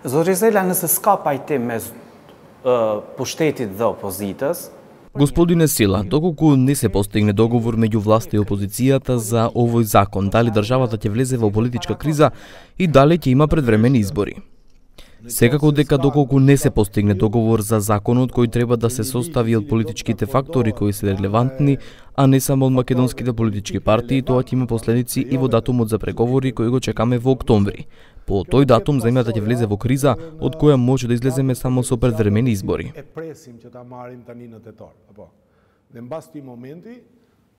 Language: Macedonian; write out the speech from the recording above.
Zorizela nëse s'ka pajtim mes pushtetit dhe opozitës. Господине Сила, доколку не се постигне договор меѓу власта и опозицијата за овој закон, дали државата ќе влезе во политичка криза и дали ќе има предвремени избори? Секако дека доколку не се постигне договор за законот кој треба да се состави од политичките фактори кои се релевантни, а не само од македонските политички партии, тоа ќе има последици и во датумот за преговори кој го чекаме во октомври. По тој датум земјата ќе влезе во криза од која може да излеземе само со предвремени избори.